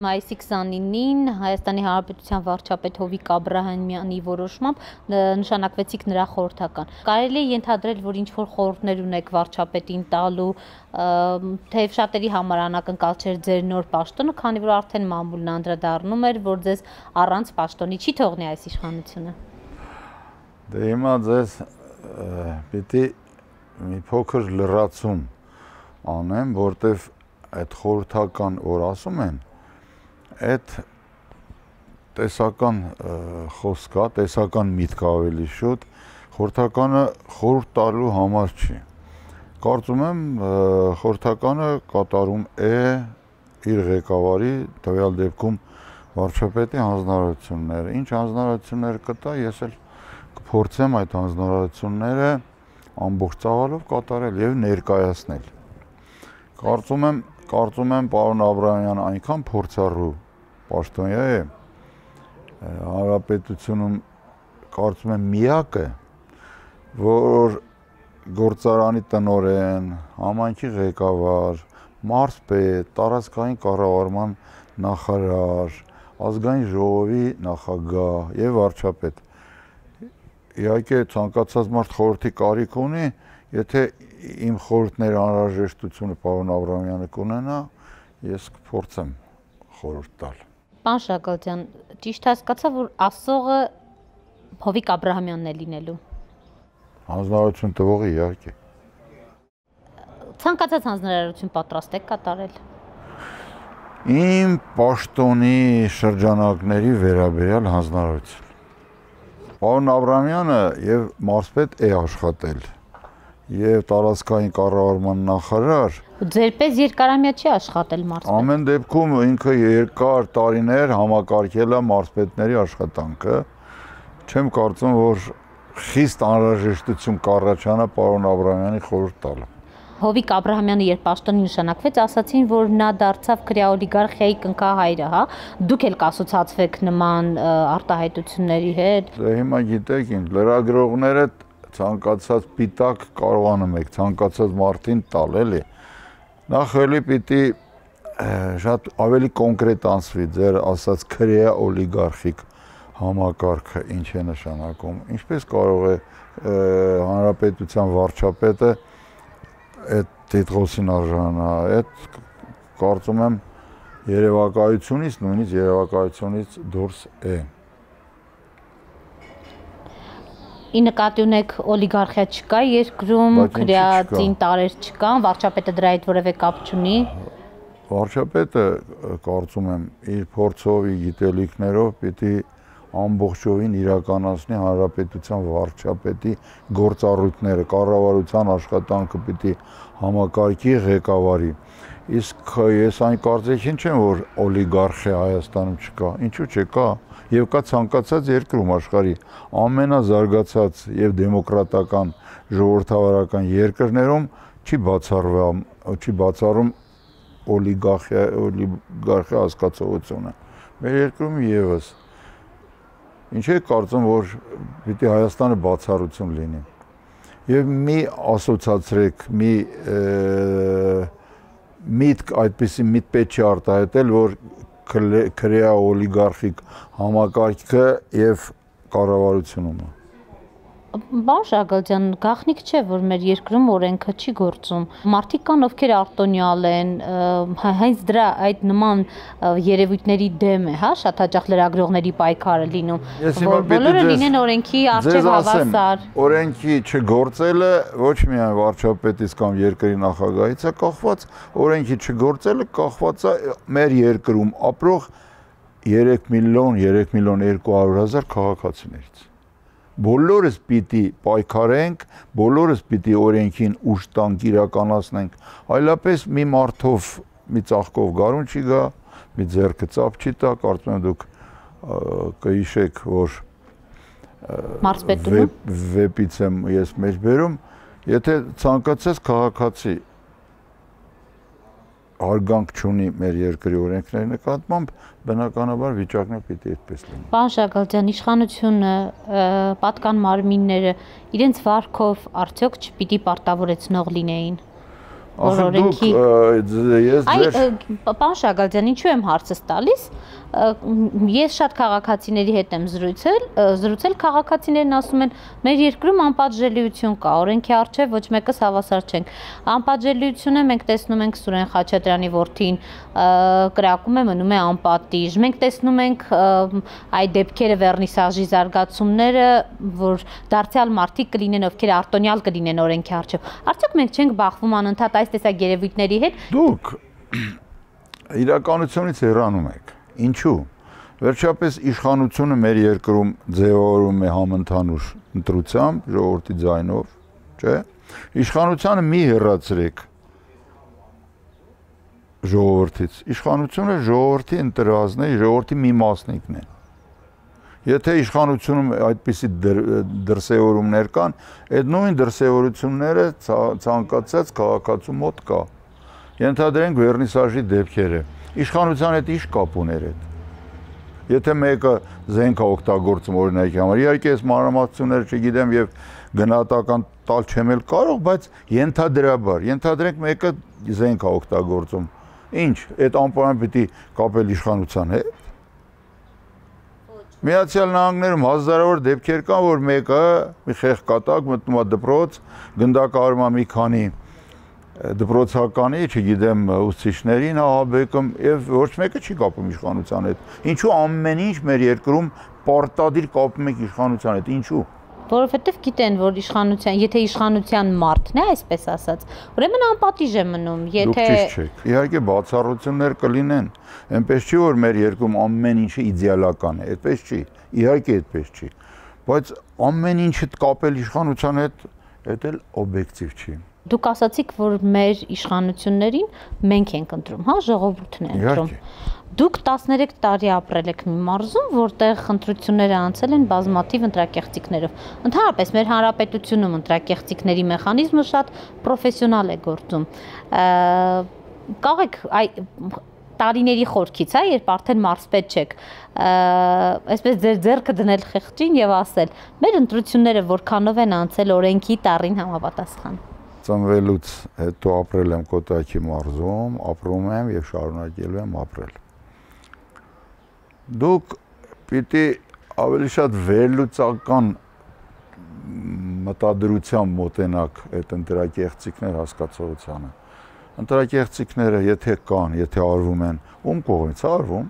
Մայիսի 29-ին Հայաստանի Հանրապետության վարչապետ Հովիկ Աբրահամյանի որոշմամբ նշանակվեցիք նրա խորհրդական։ Կարելի է ենթադրել, որ ինչ-որ խորհուրդներ ունեք վարչապետին տալու, թեև շատերի համար անակնկալ չէր ձեր նոր պաշտոնը, քանի որ արդեն մամուլն անդրադառնում էր, որ ձեզ առանց պաշտոնի չի թողնի այս իշխանությունը։ Դե հիմա ձեզ պիտի մի փոքր լրացում անեմ, որտեվ այդ խորհրդական որ ասում են, այդ տեսական խոսք է, տեսական միտք ավելի շուտ, խորհրդականը խորհուրդ տալու համար չի։ Կարծում եմ խորհրդականը կատարում է իր ղեկավարի, տվյալ դեպքում վարչապետի հանձնարարությունները։ Ինչ հանձնարարություններ կտա, ես էլ կփորձեմ այդ հանձնարարությունները ամբողջ ծավալով կատարել եւ ներկայացնել։ Կարծում եմ պարոն Աբրահամյանը այնքան փորձառու պաշտոնյա է, հանրապետությունում կարծում եմ միակը, որ գործարանի տնօրեն, համայնքի ղեկավար, մարզպետ, տարածքային կառավարման նախարար, ազգային ժողովի նախագահ եւ վարչապետ։ Իհարկե ցանկացած մարդ խորհրդի կարիք ունի, եթե իմ խորհուրդների անհրաժեշտությունը պարոն Աբրահամյանը կունենա, ես կփորձեմ խորհուրդ տալ։ Պարոն Շակալյան, ճիշտ հասկացա, որ ասողը Հովիկ Աբրահամյանն է լինելու։ Հանձնարարություն տվողը իհարկե։ Ցանկացած հանձնարարություն պատրաստ եք կատարել։ Իմ պաշտոնի շրջանակների վերաբերյալ հանձնարարություն։ Պարոն Աբրահամյանը եւ մարզպետ է աշխատել, եւ տարածքային կառավարման նախարար։ Ձեր պես երկարամյա չի աշխատել մարզպետ։ Ամեն դեպքում ինքը երկար տարիներ համակարգել է մարզպետների աշխատանքը։ Չեմ կարծում, որ խիստ անհրաժեշտություն կառաջանա պարոն Աբրահամյանի խորհուրդ տալը։ Հովիկ Աբրահամյանը երբ պաշտոնի նշանակվեց, ասացին, որ նա դարձավ քրեաօլիգարխիայի կնքահայրը, հա։ Դուք էլ կասոցացվեք նման արտահայտությունների հետ։ Դե հիմա գիտեք, լրագրողները ցանկացած պիտակ կարողանում եք ցանկացած մարդին տալ, էլի։ Նախ էլի պիտի շատ ավելի կոնկրետ անցվի ձեր ասած քրեաօլիգարխիկ համակարգը ինչ է նշանակում, ինչպես կարող է հանրապետության վարչապետը այդ տիտղոսին արժանանա, այդ կարծում եմ երևակայությունից, նույնիսկ երևակայությունից դուրս է։ Ի նկատի ունեք օլիգարխիա չկա երկրում, քրեատին տարեր չկան, վարչապետը դրա հետ որևէ կապ չունի։ Վարչապետը կարծում եմ իր փորձով, իր գիտելիքներով պիտի ամբողջովին իրականացնի հանրապետության վարչապետի գործառույթները, կառավարության աշխատանքը պիտի համակարգի ղեկավարի։ Իսկ ես այն կարծիքին չեմ, որ օլիգարխիա Հայաստանում չկա, ինչու՞ չկա, եւ կա ցանկացած երկրում աշխարհի ամենազարգացած եւ դեմոկրատական ժողովրդավարական երկրներում չի բացառում օլիգարխիա հասկացողությունը։ Մեր երկրում եւս ինչ է կարծում, որ պիտի Հայաստանը բացառություն լինի։ Եվ մի ասոցացրեք, մի միտք այդպիսի միտք պետք չի արտահայտել, որ քրեաօլիգարխիկ համակարգը եւ կառավարությունումը։ Պարոն Շակալյան, գաղտնիք չէ, որ մեր երկրում օրենքը չի գործում։ Մարդիկ կան, ովքեր արտոնյալ են, հենց դրա այդ նման երևույթների դեմ է, հա, շատ հաճախ լրագրողների պայքարը լինում, որ բոլորը լինեն օրենքի առջև հավասար։ Օրենքի չգործելը ոչ միայն վարչապետից կամ երկրի նախագահից է կախված, օրենքի չգործելը կախված է մեր երկրում ապրող 3 միլիոն 200,000 քաղաքացիներից։ Բոլորս պիտի պայքարենք, բոլորս պիտի օրենքին ուժ տանք, իրականացնենք, այլապես մի մարդով, մի ծաղկով գարուն չի գա, մի ձեռքը ծափ չի տա, կարծում եմ դուք կհիշեք, որ վեպից եմ ես մեջ բերում, եթե ցանկացած քաղաքացի հարգանք չունի մեր երկրի օրենքների նկատմամբ, բնականաբար վիճակն է պիտի այդպես լինի։ Պարոն Շակալյան, իշխանությունը, պատկան մարմինները իրենց վարքով արդյոք չպիտի պարտավորեցնող լինեին։ օրենքի։ Պարոն Շագալյան, ինչու եմ հարցս տալիս։ Ես շատ քաղաքացիների հետ եմ զրուցել, քաղաքացիներն ասում են, մեր երկրում անպատժելիություն կա, օրենքի առջև ոչ մեկս հավասար չենք։ Անպատժելիությունը մենք տեսնում ենք Սուրեն Խաչատրյանի որդին կրակում է, մնում է անպատիժ։ Մենք տեսնում ենք այդ դեպքերը, վերնիսաժի զարգացումները, որ դարձյալ մարդիկ կլինեն, ովքեր արտոնյալ կլինեն օրենքի առջև։ Արդյոք մենք չենք բախվում անընդհատ այս տեսակ երևույթների հետ։ Դուք իրականությունից հեռանում եք։ Ինչու՞։ Վերջապես իշխանությունը մեր երկրում ձևավորում է համընդհանուր ընտրությամբ, ժողովրդի ձայնով, չէ՞։ Իշխանությանը մի հեռացրեք ժողովրդից։ Իշխանությունը ժողովրդի ընտրվածն է, ժողովրդի մի մասնիկն է։ Եթե իշխանությունում այդպիսի դրսևորումներ կան, այդ նույն դրսևորությունները ցանկացած քաղաքացու մոտ կա։ Ենթադրենք վերնիսաժի դեպքերը։ Իշխանության հետ ինչ կապ ուներ այդ։ Եթե մեկը զենք է օգտագործում օրինակի համար, իհարկե այս մանրամասնությունները չգիտեմ եւ գնահատական տալ չեմ էլ կարող, բայց ենթադրաբար, ենթադրենք մեկը զենք է օգտագործում։ Ինչ, այդ անպայման պիտի կապել իշխանության հետ։ Միացյալ Նահանգներում հազարավոր դեպքեր կան, որ մեկը մի խեղկատակ մտնում է դպրոց, գնդակահարում է մի քանի դպրոցականի, չգիտեմ, ուսուցիչներին ահաբեկում եւ ոչ մեկը չի կապում իշխանության հետ։ Ինչու ամեն ինչ մեր երկրում պարտադիր կապում եք իշխանության հետ, ինչու։ Որովհետև գիտեն, որ իշխանության, եթե իշխանության մարդն է, այսպես ասած, ուրեմն անպատիժ է մնում, եթե Դուք ճիշտ չեք։ Իհարկե բացառություններ կլինեն, այնպես չի որ մեր երկրում ամեն ինչը իդեալական է, այդպես չի։ Իհարկե այդպես չի։ Բայց ամեն ինչը կապել իշխանության հետ, դա էլ օբյեկտիվ չի։ Դուք ասացիք, որ մեր իշխանություններին մենք ենք ընտրում, հա, ժողովուրդն է ընտրում։ Դուք 13 տարի ապրել եք մի մարզում, որտեղ ընտրությունները անցել են բազմաթիվ ընտրակեղծիքներով։ Ընդհանրապես մեր հանրապետությունում ընտրակեղծիքների մեխանիզմը շատ պրոֆեսիոնալ է գործում։ Կարող եք տարիների խորքից, հա, երբ արդեն մարզպետ չեք, այսպես ձեր ձեռքը դնել խեղճին եւ ասել. մեր ընտրությունները որքանով են անցել օրենքի տառին համապատասխան։ Ծնվելուց հետո ապրել եմ Կոտայքի մարզում, ապրում եմ եւ շարունակելու եմ ապրել։ Դուք պիտի ավելի շատ վերլուծական մտադրությամբ մոտենաք այդ ընտրակեղծիքներ հասկացողությանը։ Ընտրակեղծիքները եթե կան, եթե արվում են, ում կողմից արվում։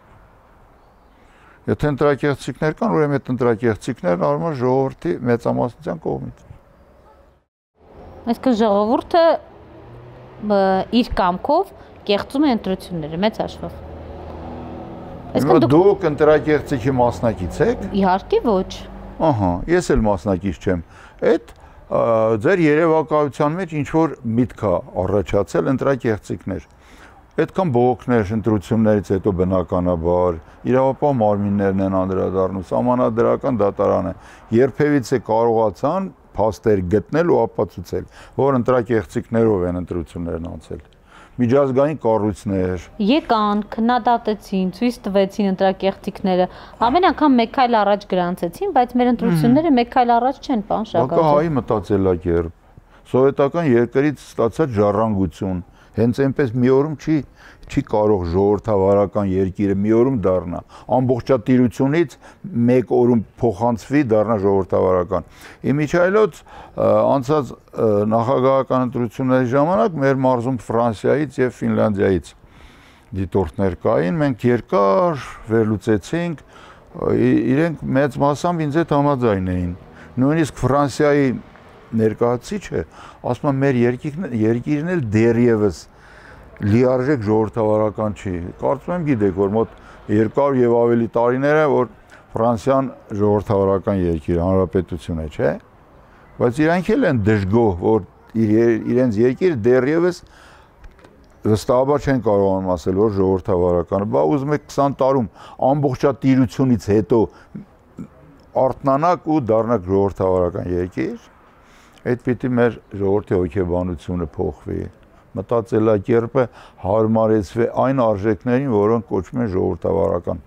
Եթե ընտրակեղծիքներ կան, ուրեմն այդ ընտրակեղծիքներն արվում են ժողովրդի մեծամասնության կողմից։ Այսինքն ժողովուրդը իր կամքով կեղծում է ընտրությունները մեծ հաշվով։ Այսինքն դուք ընտրակեղծիքի մասնակից եք։ Իհարկե ոչ։ Ահա, ես էլ մասնակից չեմ։ Այդ ձեր երևակայության մեջ ինչ որ միտք է առաջացել ընտրակեղծիքներ։ Այդքան բողոքներ ընտրություններից հետո բնականաբար իրավապահ մարմիններն են անդրադառնում, սահմանադրական դատարանը երբևիցե կարողացան փաստեր գտնել ու ապացուցել, որ ընտրակեղծիքներով են ընտրություններն անցել։ Միջազգային կառույցներ եկան, քննադատեցին, ցույց տվեցին ընտրակեղծիքները, ամեն անգամ մեկ քայլ առաջ գրանցեցին, բայց մեր ընտրությունները մեկ քայլ առաջ չեն, պարոն Շագալյան։ Բակա հայի մտածելակերպ, սովետական երկրից ստացած ժառանգություն, հենց այնպես մի օրում չի կարող ժողովրդավարական երկիրը մի օրում դառնա, ամբողջատիրությունից մեկ օրում փոխանցվի դառնա ժողովրդավարական։ Իմիջիայլոց անցած նախագահական ընտրությունների ժամանակ մեր մարզում Ֆրանսիայից եւ Ֆինլանդիայից դիտորդներ կային, մենք երկար վերլուծեցինք, իրենք մեծ մասամբ ինձ հետ համաձայն էին։ Նույնիսկ Ֆրանսիայի ներկայացուցիչը ասում է մեր երկիրն էլ դեռևս լիարժեք ժողովրդավարական չի։ Կարծում եմ գիտեք, որ մոտ 200 եւ ավելի տարիներ է, որ Ֆրանսիան ժողովրդավարական երկիր, հանրապետություն է, չէ՞։ Բայց իրանք էլ են դժգոհ, որ իրենց երկիրը դեռևս վստահաբար չեն կարողանում ասել, որ ժողովրդավարական է։ Բա ուզում եք 20 տարում ամբողջատիրությունից հետո արթնանաք ու դառնաք ժողովրդավարական երկիր։ Այդ պիտի մեր ժողովրդի հոգեբանությունը փոխվի, մտածելակերպը հարմարեցվի այն արժեքներին, որոնք կոչվում են ժողովրդավարական։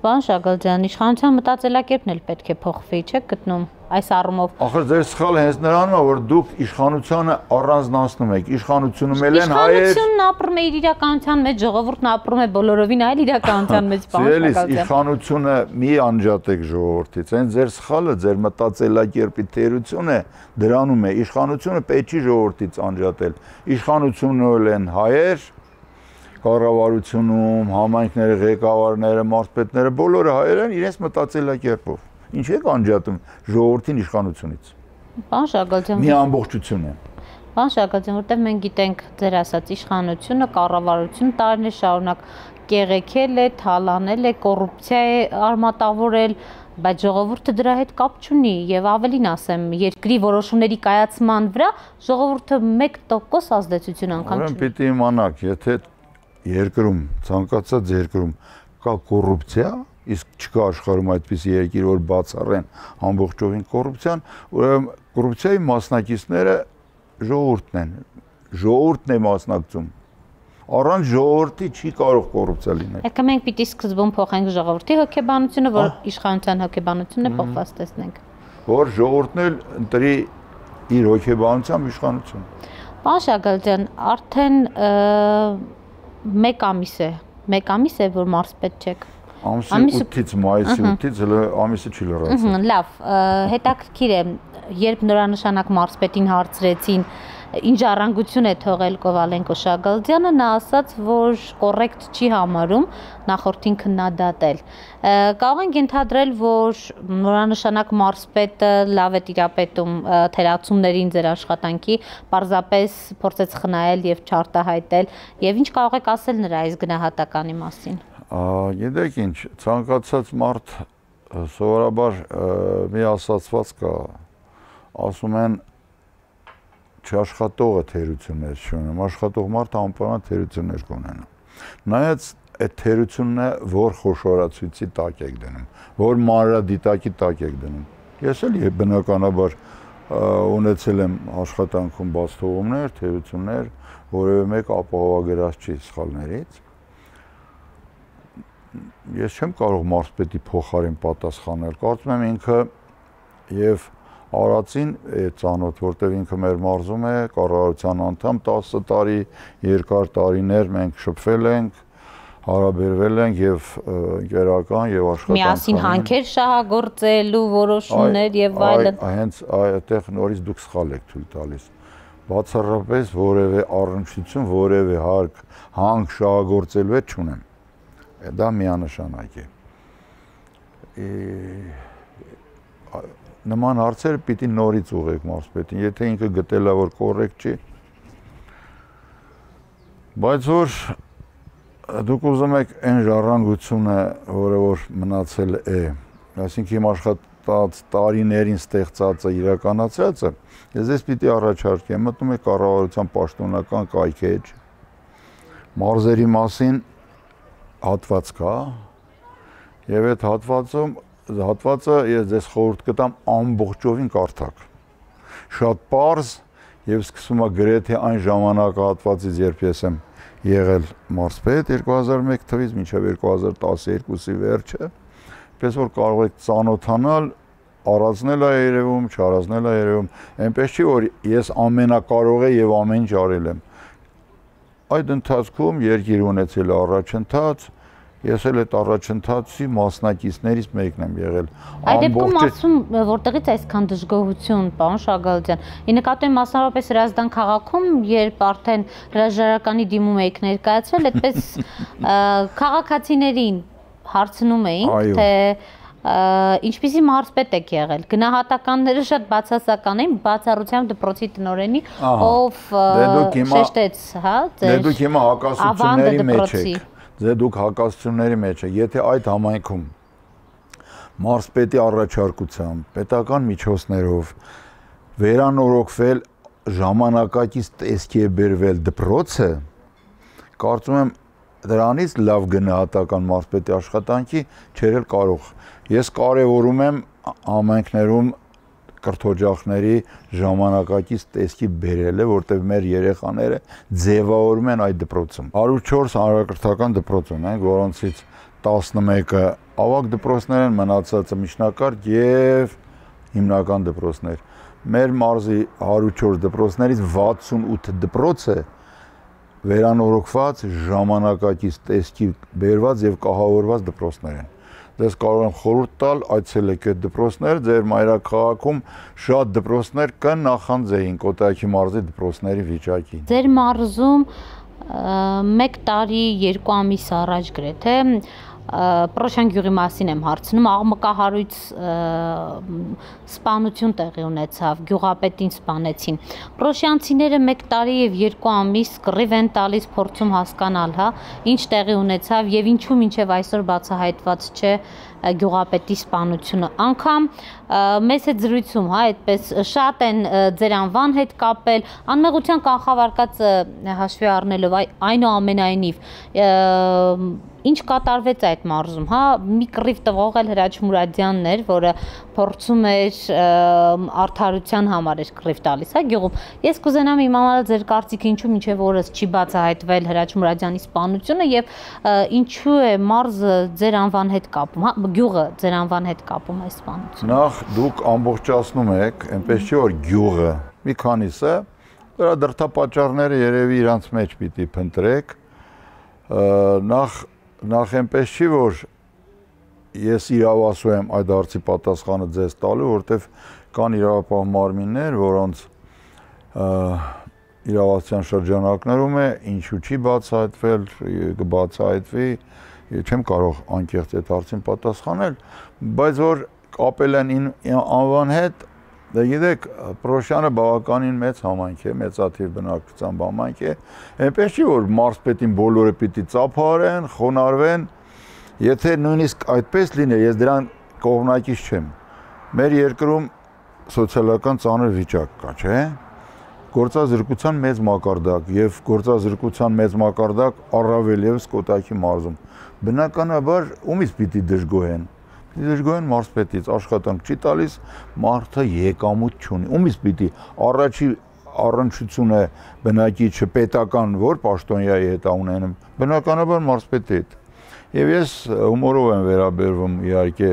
Պարոն Շագալյան, իշխանության մտածելակերպն էլ պետք է փոխվի, չեք գտնում։ այս առումով։ Ախր ձեր սխալը հենց նրանում է, որ դուք իշխանությանը առանձնացնում եք, իշխանությունում էլ են հայեր։ Իշխանությունն ապրում է իր իրականության մեջ, ժողովուրդն ապրում է բոլորովին այլ իրականության մեջ, Սիրելիս, իշխանությունը մի անջատեք ժողովրդից, այն ձեր սխալը, ձեր մտածելակերպի թերությունը դրանում է, իշխանությունը պետք չի ժողովրդից անջատել, իշխանությունն էլ են հայեր, կառավարությունում, համայնքները, ղեկավարները, մարզպետները, բոլորը հայեր են իրենց մտածելակերպով։ Ինչ եք անջատում ժողովրդին իշխանությունից։ Պարոն Շագալյան, մի ամբողջություն է։ Պարոն Շագալյան, որտեղ մենք գիտենք ձեր ասած իշխանությունը, կառավարությունը տարիներ շարունակ կեղեքել է, թալանել է, կոռուպցիա է արմատավորել, բայց ժողովուրդը դրա հետ կապ չունի եւ ավելին ասեմ, երկրի որոշումների կայացման վրա ժողովուրդը 1% ազդեցություն անգամ չունի։ Ուրեմն պիտի իմանաք, եթե երկրում, ցանկացած երկրում կա կոռուպցիա, իսկ չկա աշխարհում այդպիսի երկիր, որ բացառեն ամբողջովին կոռուպցիան, ուրեմն կոռուպցիայի մասնակիցները ժողովուրդն են, ժողովուրդն է մասնակցում։ Առանց ժողովրդի չի կարող կոռուպցիա լինել։ Եկա մենք պիտի սկզբում փոխենք ժողովրդի հոգեբանությունը, որ իշխանության հոգեբանությունը փոխված տեսնենք։ Որ ժողովուրդն էլ ընտրի իր հոգեբանությամբ իշխանություն։ Պարոն Շագալյան, արդեն 1 ամիս է, որ մարզպետ չեք։ Ամսի 8-ից, մայիսի 8-ից հələ ամիսը չի լրացել։ Լավ, հետաքրքիր է, երբ նորանշանակ մարզպետին հարցրեցին, ինչ ժառանգություն է թողել Կովալենկո Շագալյանը, նա ասաց, որ կոռեկտ չի համարում նախորդին քննադատել։ Կարող ենք ենթադրել, որ նորանշանակ մարզպետը լավ է տիրապետում թերացումներին ձեր աշխատանքի, պարզապես փորձեց խնայել եւ չարտահայտել, եւ ինչ կարող եք ասել նրա այս գնահատականի մասին։ Գիտեք ինչ, ցանկացած մարդ սովորաբար մի ասացված կա, ասում են չաշխատողը թերություններ չունեմ, աշխատող մարդը անպայման թերություններ կունենա։ Նայած այդ թերությունն է, որ խոշորացույցի տակ եք դնում, որ մանրադիտակի տակ եք դնում։ Ես էլ բնականաբար ունեցել եմ աշխատանքում բաց թողումներ, թերություններ, որևէ մեկ ապահովագրած չի սխալներից։ Ես չեմ կարող մարզպետի փոխարեն պատասխանել, կարծում եմ ինքը եւ Արածին է ծանոթ, որտեղ ինքը մեր մարզում է, կառավարության անդամ 10 տարի, երկար տարիներ մենք շփվել ենք, հարաբերվել ենք եւ ընկերական եւ աշխատանքային։ Միասին հանքեր շահագործելու որոշումներ եւ այլն։ Հենց այդտեղ նորից դուք սխալ եք թույլ տալիս։ Բացառապես որևէ առնչություն, որևէ հանք շահագործելու հետ չունեմ։ Դա միանշանակ է։ Նման հարցերը պիտի նորից ուղղեք մարզպետին, եթե ինքը գտել է, որ կոռեկտ չի։ Բայց որ դուք ուզում եք այն ժառանգությունը, որը որ մնացել է, այսինքն իմ աշխատած տարիներին ստեղծածը, իրականացրածը, ես ես պիտի առաջարկեմ, մտնում եք կառավարության պաշտոնական կայքեջ, մարզերի մասին հատված կա, եւ այդ հատվածը ես ձեզ խորհուրդ կտամ ամբողջովին կարդաք։ Շատ պարզ եւ սկսում է գրեթե այն ժամանակահատվածից, երբ ես եմ եղել մարզպետ 2001 թվականից մինչև 2012-ի վերջը, պես որ կարող եք ծանոթանալ, առանձնել է երևում, չառանձնել է երևում, այնպես չի որ ես ամենակարող եւ ամեն ինչ արել եմ։ Այդ ընթացքում երկիր ունեցել է առաջընթաց, ես էլ այդ առաջընթացի մասնակիցներից մեկն եմ եղել։ Այդ դեպքում ասում, որտեղից այսքան դժգոհություն, պարոն Շագալյան։ Ի նկատի մասնավորապես Հրազդան քաղաքում, երբ արդեն հրաժարականի դիմում եք ներկայացրել, այդպես քաղաքացիներին հարցնում էինք, թե ինչպիսի մարզպետ եք եղել։ Գնահատականները շատ բացասական էին, բացառությամբ դպրոցի տնօրենի, ով շեշտեց, հա, ձեր դուք հիմա հակասությունների մեջ եք։ Դուք հակասությունների մեջ եք, եթե այդ համայնքում մարզպետի առաջարկությամբ, պետական միջոցներով վերանորոգվել ժամանակակից տեսքի է բերվել դպրոցը, կարծում եմ դրանից լավ գնահատական մարզպետի աշխատանքի չէր կարող։ Ես կարևորում եմ համայնքներում կրթօջախների ժամանակակից տեսքի բերելը, որտեղ մեր երեխաները ձևավորում են այդ դպրոցում։ 104 հանրակրթական դպրոց ունենք, որոնցից 11-ը ավագ դպրոցներ են, մնացածը միջնակարգ եւ հիմնական դպրոցներ։ Մեր մարզի 104 դպրոցներից 68 դպրոցը վերանորոգված ժամանակակից տեսքի բերված եւ կահավորված դպրոցներ են։ Դες կարող եմ խորհուրդ տալ այցելեք այդ դպրոցներ, ձեր մայրաքաղաքում շատ դպրոցներ կան նախանձեին Կոտայքի մարզի դպրոցների վիճակին։ Ձեր մարզում 1 տարի 2 ամիս առաջ գրեթե Պրոշյան գյուղի մասին եմ հարցնում, աղմկահարույց սպանություն տեղի ունեցավ, գյուղապետին սպանեցին։ Պրոշյանցիները 1 տարի եւ 2 ամիս կռիվ են տալիս, փորձում հասկանալ, հա, ինչ տեղի ունեցավ եւ ինչու մինչեւ այսօր բացահայտված չէ գյուղապետի սպանությունը։ Անկամ մեծ հետ զրույցում, հա, այդպես շատ են ձեր անվան հետ կապել, անմեղության կանխավարկածը հաշվի առնելով, այնուամենայնիվ ինչ կատարվեց այդ մարզում, հա, մի կռիվ տվող էլ Հրաչ Մուրադյանն էր, որը փորձում էր արդարության համար էր կռիվ տալիս, հա, գյուղում։ Ես կուզենամ իմանալ ձեր կարծիքը ինչու մինչև օրս չի բացահայտվել Հրաչ Մուրադյանի սպանությունը եւ ինչու է մարզը ձեր անվան հետ կապում, հա, գյուղը ձեր անվան հետ կապում այս սպանությունը։ Նախ դուք ամբողջացնում եք, այնպես չի որ գյուղը մի քանիսը, դրա դրդապատճառները երևի իրանց մեջ պիտի փնտրեք, նախ այնպես չի որ ես իրավասու եմ այդ հարցի պատասխանը ձեզ տալու, որտեվ կան իրավապահ մարմիններ, որոնց իրավասության շրջանակներում է, ինչու չի բացահայտվել, կբացահայտվի, չեմ կարող անկեղծ այդ հարցին պատասխանել, բայց որ կապել են անվան հետ, դե գիտեք, Պրոշյանը բավականին մեծ համայնք է, մեծաթիվ բնակչության համայնք է, այնպես չի որ մարզպետին բոլորը պիտի ծափարեն, խոնարհվեն, եթե նույնիսկ այդպես լիներ, ես դրան կողմնակից չեմ։ Մեր երկրում սոցիալական ծանր վիճակ կա, չէ՞։ Գործազրկության մեծ մակարդակ եւ գործազրկության մեծ մակարդակ առավել եւս Կոտայքի մարզում։ Բնականաբար ումից պիտի դժգոհեն։ Դժգոհեն մարզպետից, աշխատանք չի տալիս, մարդը եկամուտ չունի։ Ումից պիտի առաջի առնչությունը բնակիչը պետական որ պաշտոնյայի հետ ունենում, բնականաբար մարզպետի հետ։ Եվ ես հումորով եմ վերաբերվում իհարկե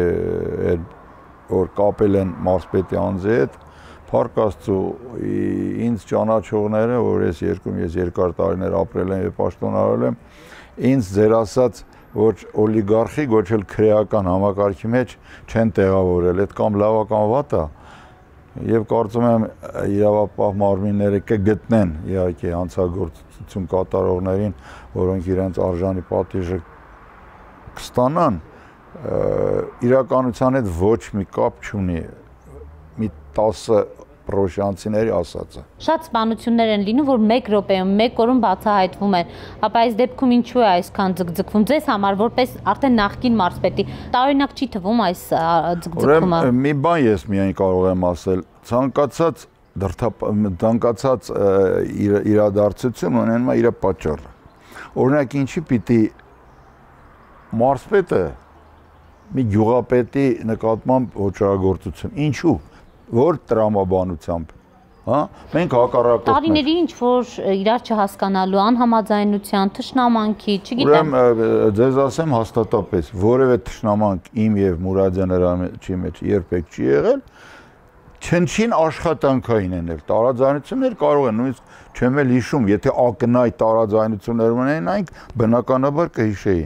որ կապել են մարզպետի անձի հետ, Փառք Աստծո, ինձ ճանաչողները, որ ես երկար տարիներ ապրել եմ եւ պաշտոնարարել եմ, ինձ ձեր ասած ոչ օլիգարխիկ, ոչ էլ քրեական համակարգի մեջ չեն տեղավորել, այդ կամ լավ կամ վատ է, եւ կարծում եմ իրավապահ մարմինները կգտնեն իհարկե հանցագործություն կատարողներին, որոնք իրենց արժանի պատիժը կստանան, իրականության հետ ոչ մի կապ չունի, մի 10 պրոշյանցիների ասածը։ Շատ սպանություններ են լինում, որ 1 րոպեում, 1 օրում բացահայտվում են, ապա այս դեպքում ինչու է այսքան ձգձգվում ձեզ համար, որպես արդեն նախկին մարզպետի, տարօրինակ չի թվում այս ձգձգումը։ Ուրեմն մի բան ես միայն կարող եմ ասել, ցանկացած իրադարձություն ունենում է իր պատճառը։ Օրինակ ինչի պիտի մարզպետը մի գյուղապետի նկատմամբ ոչռագործություն, ինչու, որ տրամաբանությամբ, հա, մենք հակառակորդներ։ Տարիների ինչ որ իրար չհասկանալու, անհամաձայնության, թշնամանքի, չգիտեմ։ Ուրեմն ձեզ ասեմ հաստատապես, որևէ թշնամանք իմ եւ Մուրադյան Հրաչի մեջ երբեք չի եղել, չնչին աշխատանքային են ել, տարաձայնություններ կարող են, նույնիսկ չեմ էլ հիշում, եթե ակնհայտ տարաձայնություններ ունենայինք, բնականաբար կհիշեի։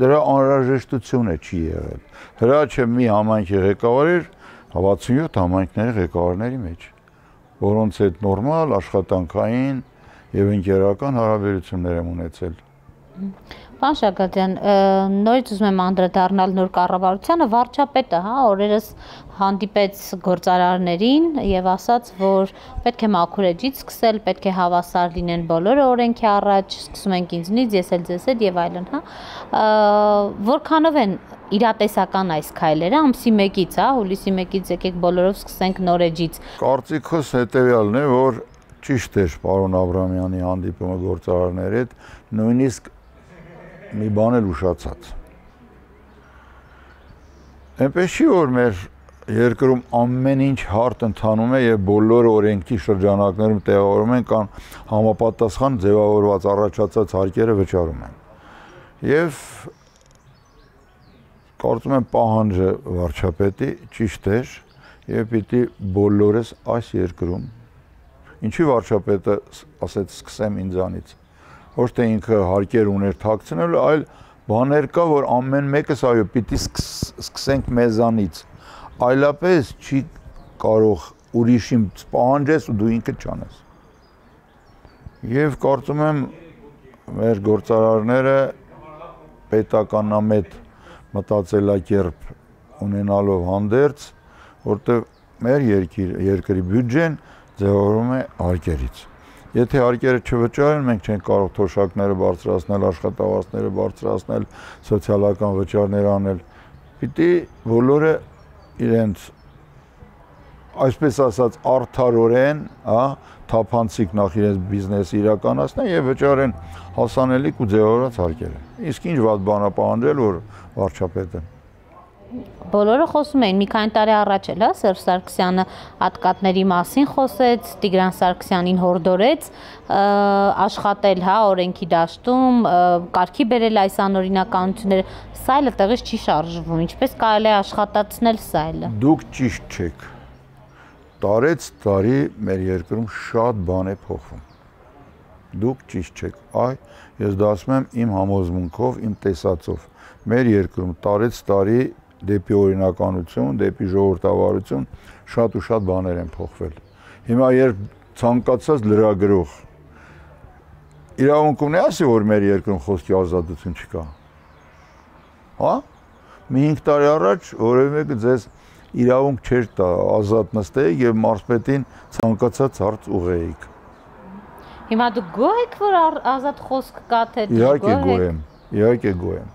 Դրա անհրաժեշտությունը չի եղել։ Հրաչը մի համայնքի ղեկավար էր 67 համայնքների ղեկավարների մեջ, որոնց հետ նորմալ աշխատանքային եւ ընկերական հարաբերություններ եմ ունեցել։ Պարոն Շագատյան, նորից ուզում եմ անդրադառնալ նոր կառավարությանը, վարչապետը, հա, օրերս հանդիպեց գործարարներին եւ ասաց, որ պետք է մաքուր էջից սկսել, պետք է հավասար լինեն բոլորը օրենքի առաջ, սկսում ենք ինձնից, ես էլ ձեզ հետ եւ այլն, հա։ Որքանով են իրատեսական այս քայլերը, ամսի 1-ից, հա, հուլիսի 1-ից եկեք բոլորով սկսենք նոր էջից։ Կարծիքս հետեւյալն է, որ ճիշտ էր պարոն Աբրամյանի հանդիպումը գործարարների հետ, նույնիսկ մի բան էլ ուշացած։ Այնպես չի որ մեր երկրում ամեն ինչ հարթ ընթանում է եւ բոլոր օրենքի շրջանակներում տեղավորում են կամ համապատասխան ձևավորված առաջացած հարկերը վճարում են։ Եվ կարծում եմ պահանջը վարչապետի ճիշտ էր եւ պիտի բոլորս այս երկրում ինչի վարչապետը ասեց սկսեմ ինձանից ոչ թե ինքը հարկեր ուներ թաքցնելու այլ բաներ կա որ ամեն մեկս այո պիտի սկսենք մեզանից այլապես չի կարող ուրիշին պահանջես ու դու ինքդ չանես եւ կարծում եմ մեր գործարարները պետականամետ մտածելակերպ ունենալով հանդերձ որտեղ մեր երկրի բյուջեն ձևավորվում է հարկերից եթե հարկերը չվճարեն մենք չենք կարող թոշակները բարձրացնել աշխատավարձները բարձրացնել սոցիալական վճարներ անել պիտի բոլորը իրենց այսպես ասած արդարորեն հա թափանցիկ նախ իրենց բիզնեսը իրականացնեն եւ վճարեն հասանելիք ու ձևավորած հարկերը իսկ ինչ վատ բան է պահանջել որ վարչապետը Բոլորը խոսում էին մի քանի տարի առաջ էլ, հա, Սերժ Սարգսյանը հատկատների մասին խոսեց, Տիգրան Սարգսյանին հորդորեց աշխատել, հա, օրենքի դաշտում, կարգի բերել այս անօրինականությունները, սա էլ տեղից չի շարժվում, ինչպես կարելի է աշխատացնել սա էլ։ Դուք ճիշտ չեք։ Տարեց տարի մեր երկրում շատ բան է փոխվում։ Դուք ճիշտ չեք։ Այ ես դա ասում եմ իմ համոզմունքով, իմ տեսածով։ Մեր երկրում տարեց տարի դեպի օրինականություն, դեպի ժողովրդավարություն շատ ու շատ բաներ են փոխվել։ Հիմա երբ ցանկացած լրագրող իրավունք ունի ասի, որ մեր երկրում խոսքի ազատություն չկա։ Հա? Մի 5 տարի առաջ որևէ մեկը ձեզ իրավունք չէր տա ազատ նստեիք եւ մարզպետին ցանկացած հարց ուղեիք։ Հիմա դուք գոհ եք, որ ազատ խոսք կա թե Իհարկե գոհ եմ, իհարկե գոհ եմ։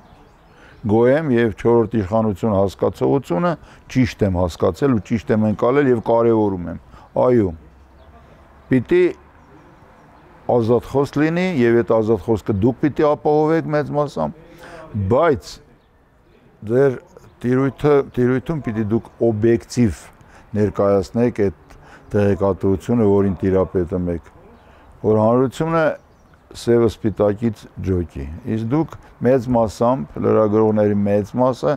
Գոհ եմ եւ 4-րդ իշխանություն հասկացողությունը ճիշտ եմ հասկացել ու ճիշտ եմ ընկալել եւ կարեւորում եմ։ Այո։ Պիտի ազատ խոսք լինի եւ այդ ազատ խոսքը դուք պիտի ապահովեք մեծ մասամբ, բայց ձեր տիրույթում պիտի դուք օբյեկտիվ ներկայացնեք այդ տեղեկատվությունը, որին տիրապետում եք, որ հանրությունը սևը սպիտակից ջոկի։ Իսկ դուք մեծ մասամբ լրագրողների մեծ մասը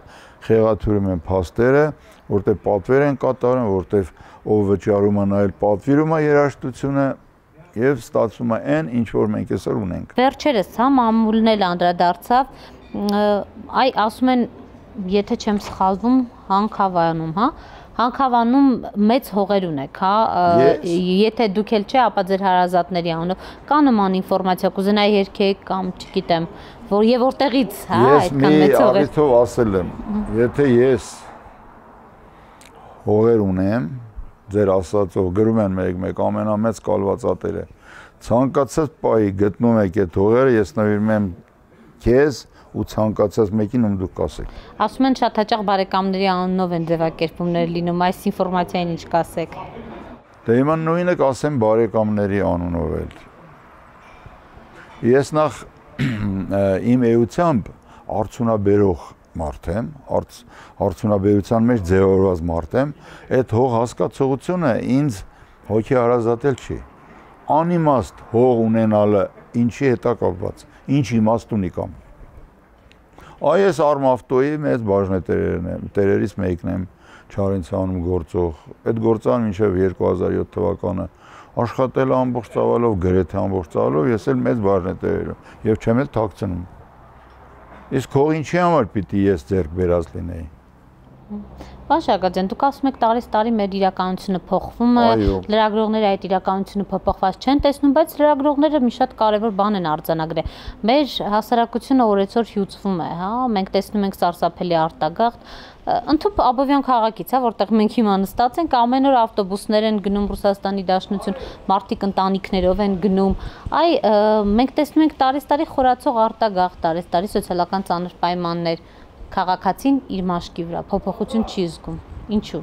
խեղաթյուրում են փաստերը, որտեղ պատվեր են կատարում, որտեղ ով վճարում է նայել պատվիրում է երաժշտությունը եւ ստացվում է այն, ինչ որ մենք այսօր ունենք։ Վերջերս, հա, մամուլն էլ անդրադարձավ, այ ասում են, եթե չեմ սխալվում, Հանքավանում, հա, Հանքավանում մեծ հողեր ունեք, հա, եթե դուք էլ չէ, ապա ձեր հարազատների անունով կա նման ինֆորմացիա, կուզենայի երգեք կամ չգիտեմ, որ եւ որտեղից, հա, այդքան մեծ հողեր։ Ես մի առիթով ասել եմ, եթե ես հողեր ունեմ, ձեր ասածով գրում են մեկ ամենամեծ կալվածատերը, ցանկացած պահի գտնում եք այդ հողերը, ես նվիրում եմ քեզ ու ցանկացած մեկին ում դուք կասեք։ Ասում են շատ հաճախ բարեկամների անունով են ձևակերպումներ լինում, այս ինֆորմացիային ինչ կասեք։ Դե հիմա նույնը կասեմ բարեկամների անունով էլ։ Ես նախ իմ էությամբ արդյունաբերող մարդ եմ, արդյունաբերության մեջ ձևավորված մարդ եմ, այդ հող հասկացողությունը ինձ հոգեհարազատել չի։ Անիմաստ հող ունենալը ինչի հետ է կապված, ինչ իմաստ ունի կամ։ Այս Արմավտոյի մեծ բաժնետերերից մեկն եմ Չարենցանում գործող։ Այդ գործան մինչև 2007 թվականը աշխատել ամբողջ ծավալով, գրեթե ամբողջ ծավալով, ես էլ մեծ բաժնետեր եմ եւ չեմ էլ թաքցնում։ Իսկ հող ինչի համար պիտի ես ձեռք բերած լինեի։ Պարոն Շարգատյան, դուք ասում եք տարեց տարի մեր իրականությունը փոխվում է, լրագրողները այդ իրականությունը փոփոխված չեն տեսնում, բայց լրագրողները մի շատ կարևոր բան են արձանագրել։ Մեր հասարակությունը օրեցօր հյուծվում է, հա, մենք տեսնում ենք սարսափելի արտագաղթ, ընդհանուր Աբովյան քաղաքից, հա, որտեղ մենք հիմա նստած ենք, ամեն օր ավտոբուսներ են գնում Ռուսաստանի Դաշնություն, մարդիկ ընտանիքներով են գնում։ Այ մենք տեսնում ենք տարեց տարի խորացող արտագաղթ, տարեց տարի սոցիալական ծանր պայմաններ։ Քաղաքացին իր մաշկի վրա փոփոխություն չի զգում։ Ինչու։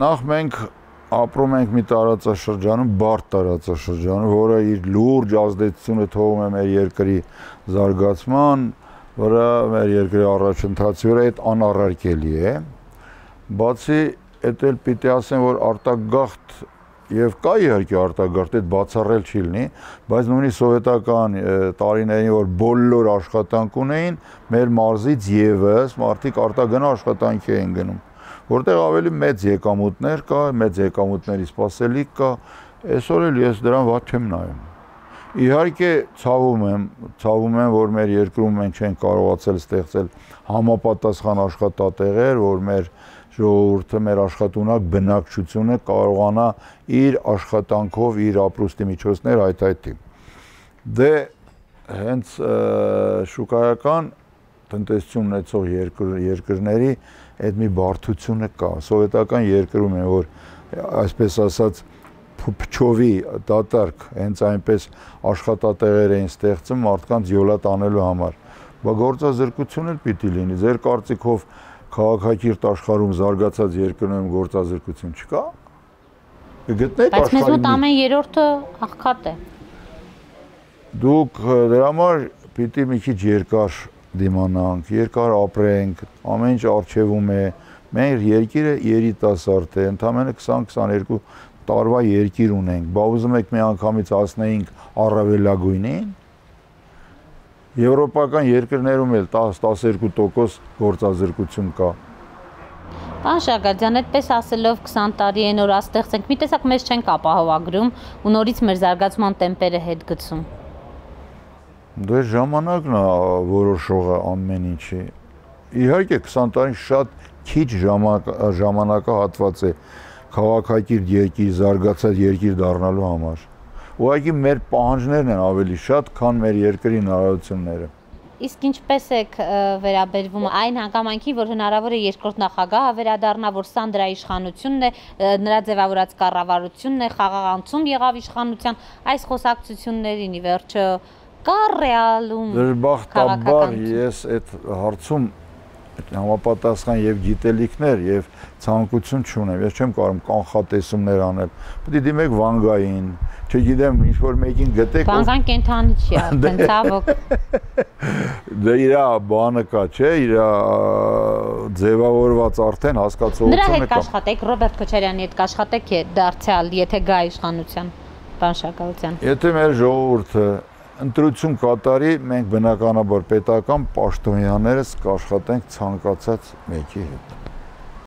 Նախ մենք ապրում ենք մի տարածաշրջանում, բարդ տարածաշրջանում, որը իր լուրջ ազդեցությունը թողում է մեր երկրի զարգացման վրա, մեր երկրի առաջընթացի վրա, այդ անառարկելի է։ Բացի այդ էլ պիտի ասեմ, որ արտագաղթ եւ կա իհարկե արտագաղթ, այդ բացառել չի լինի, բայց նույնիսկ սովետական տարիներին, որ բոլոր աշխատանք ունեին, մեր մարզից եւս մարդիկ արտագնա աշխատանքի էին գնում, որտեղ ավելի մեծ եկամուտներ կա, մեծ եկամուտների սպասելիք կա, այսօր էլ ես դրան վատ չեմ նայում։ Իհարկե ցավում եմ, որ մեր երկրում մենք չենք կարողացել ստեղծել համապատասխան աշխատատեղեր, որ մեր ժողովուրդը, մեր աշխատունակ բնակչությունը կարողանա իր աշխատանքով իր ապրուստի միջոցներ հայթայթի։ Դե հենց շուկայական տնտեսություն ունեցող երկրների այդ մի բարդությունը կա։ Սովետական երկրում է, որ այսպես ասած փչովի դատարկ հենց այնպես աշխատատեղեր էին ստեղծում մարդկանց յոլա տանելու համար։ Բա գործազրկություն էլ պիտի լինի։ Ձեր կարծիքով քաղաքակիրթ աշխարհում զարգացած երկրներում գործազրկություն չկա։ Գտնեք աշխարհի։ Բայց մեզ մոտ ամեն երրորդը աղքատ է։ Դուք դրա համար պիտի մի քիչ երկար դիմանանք, երկար ապրենք, ամեն ինչ արժևում է։ Մեր երկիրը երիտասարդ է, ընդամենը 20-22 տարվա երկիր ունենք, բա ուզում եք մի անգամից հասնեինք առավելագույնին։ Եվրոպական երկրներում էլ 10-12% գործազրկություն կա։ Պարոն Շագարդյան, այդպես ասելով 20 տարի է նոր աստեղծենք, մի տեսակ մեզ չենք ապահովագրում ու նորից մեր զարգացման տեմպերը հետ գցում։ Դե ժամանակն է որոշողը ամեն ինչի։ Իհարկե 20 տարին շատ քիչ ժամանակահատված է քաղաքակիրթ երկիր, զարգացած երկիր դառնալու համար։ Ուղղակի մեր պահանջներն են ավելի շատ, քան մեր երկրի հնարավորությունները։ Իսկ ինչպես եք վերաբերվում այն հանգամանքին, որ հնարավոր է երկրորդ նախագահը վերադառնա, որ սա նրա իշխանությունն է, նրա ձևավորած կառավարությունն է, խաղաղ անցում եղավ իշխանության, այս խոսակցություններին ի վերջո կա ռեալում դժբախտաբար ես այդ հարցում համապատասխան եւ գիտելիքներ եւ ցանկություն չունեմ։ Ես չեմ կարող կանխատեսումներ անել։ Պետք է դիմեք Վանգային, չգիտեմ, ինչ որ մեկին գտեք։ Վանգան կենթանի չի, արդեն ցավոք։ Դե իր բանը կա, չէ, իր ձևավորված արդեն հասկացողությունը կա։ Նրա հետ կաշխատեք, Ռոբերտ Քոչարյանի հետ կաշխատեք դարձյալ, եթե գա իշխանության, պարոն Շաքարյան։ Եթե մեր ժողովուրդը ընտրություն կատարի, մենք բնականաբար պետական պաշտոնյաներս կաշխատենք ցանկացած մեկի հետ։